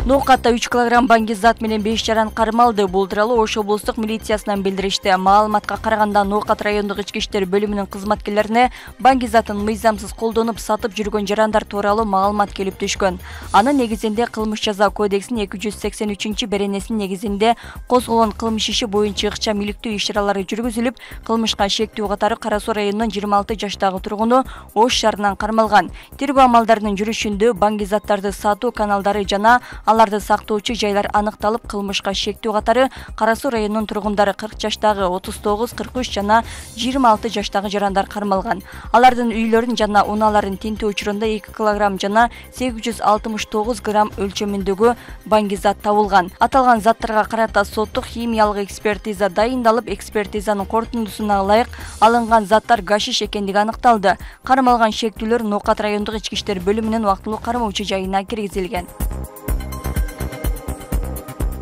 Ноокатта 3 кг баңгизат менен 5 жаран кармалды. Бул тууралуу Ош облустук милициясынан билдиришти. Маалыматка караганда Ноокат райондук ички иштер бөлүмүнүн кызматкерлерине баңгизатын мыйзамсыз колдонуп сатып жүргөн жарандар тууралуу маалымат келип түшкөн. Анын негизинде Кылмыш жаза кодексинин 283-беренесинин негизинде козголгон кылмыш иши боюнча ыкчам иликтөө иш-чаралары жүргүзүлүп, кылмышка шектүү катары Кара Суу районунун 26 жаштагы тургуну Ош шаарынан кармалган. Тергөө амалдарынын жүрүшүндө баңгизаттарды сатуу каналдары жана аларды сактоочу жайлар аныкталып, кылмышка шектүү катары Кара Суу районунун тургундары 40 жаштагы, 39, 43 жана 26 жаштагы жарандар кармалган. Алардын үйлөрүн жана унааларын тинтөө учурунда 2 кг жана 869 грамм өлчөмүндөгү баңгизат табылган. Аталган заттарга карата соттук химиялык экспертиза дайындалып, экспертизанын корутундусуна ылайык алынган заттар гашиш экендиги аныкталды. Кармалган шектүүлөр Ноокат райондук ички иштер бөлүмүнүн убактылуу кармоочу жайына киргизилген.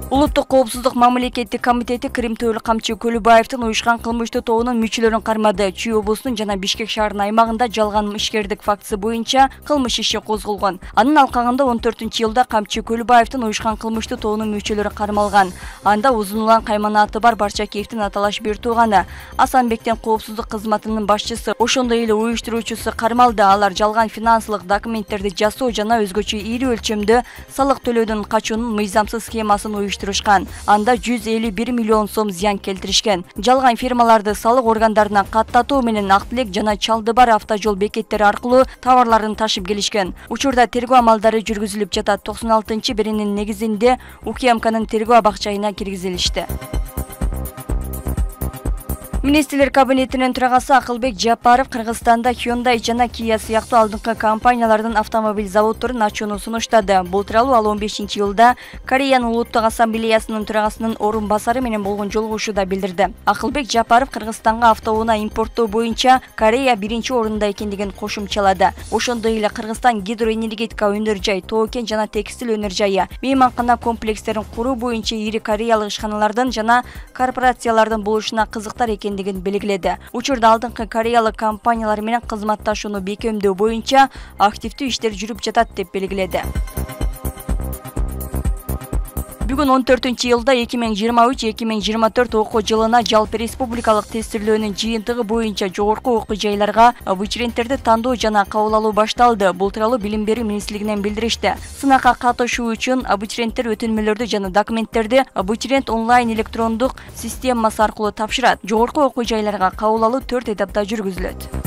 Улуттук коопсуздук мамлекеттик комитети Кыримтөөлүк камчы Көлүбаевдин уюшкан кылмыштуу тобунун мүчөлөрүн кармады. Чүй облусунун жана Бишкек шаарынын аймагында жалган ишкердик фактысы боюнча кылмыш иши козголгон. Анын алкагында 14-жылда камчы Көлүбаевдин уюшкан кылмыштуу тобунун мүчөлөрү кармалган. Анда узун улан кайманаты бар Барчакеевдин аталаш бир тууганы Асанбектин коопсуздук кызматынын башчысы, ошондой эле уюштуруучусу кармалды. Алар жалган финансылык документтерди жасоо жана өзгөчө ири өлчөмдө салык төлөөдөн качуунун мыйзамсыз схемасын уюштурушкан. Анда 151 миллион сом зыян келтиришкен. Жалган фирмаларды салык органдарына каттатуу менен Ак Тилек жана Чалдыбар автожол бекеттери аркылуу товарларын ташып келишкен. Учурда тергөө амалдары жүргүзүлүп жатат. 96-берененин негизинде УКМКнын тергөө абакчайына киргизилишти. Министрлер кабинетинин төрагасы Акылбек Жапаров Кыргызстанда Hyundai жана Kia сыяктуу алдыңкы компаниялардын автомобиль заводдорун ачууну сунуштады. Бул тууралуу ал 15-жылда Кореянын улуттук ассамблеясынын төрагасынын орун басары менен болгон жолугушууда билдирди. Акылбек Жапаров Кыргызстанга автоунаа импорттоо боюнча Корея биринчи орунда экендигин кошумчалады. Ошондой эле Кыргызстан гидроэнергетика өнөр жай, тоо кен жана текстиль өнөр жайы, мейманкана комплекстерин куруу боюнча ири кореялык ишканалардын жана корпорациялардын болушуна кызыктар экендигин белгиледи. Учурда алдыңкы кореялык компаниялар менен кызматташууну бекемдөө боюнча активдүү иштер жүрүп жатат деп белгиледи. Бүгүн 14-жылда 2023-2024 окуу жылына жалпы республикалык тестирлөөнүн жыйынтыгы боюнча жогорку окуу жайларга абитуриенттерди тандоо жана кабыл алуу башталды. Бул тууралуу Билим берүү министрлигинен билдиришти. Сынакка катышуу үчүн абитуриенттер өтүнмөлөрдү жана документтерди абитуриент онлайн электрондук системасы аркылуу тапшырат. Жогорку окуу жайларга кабыл алуу 4 этапта жүргүзүлөт.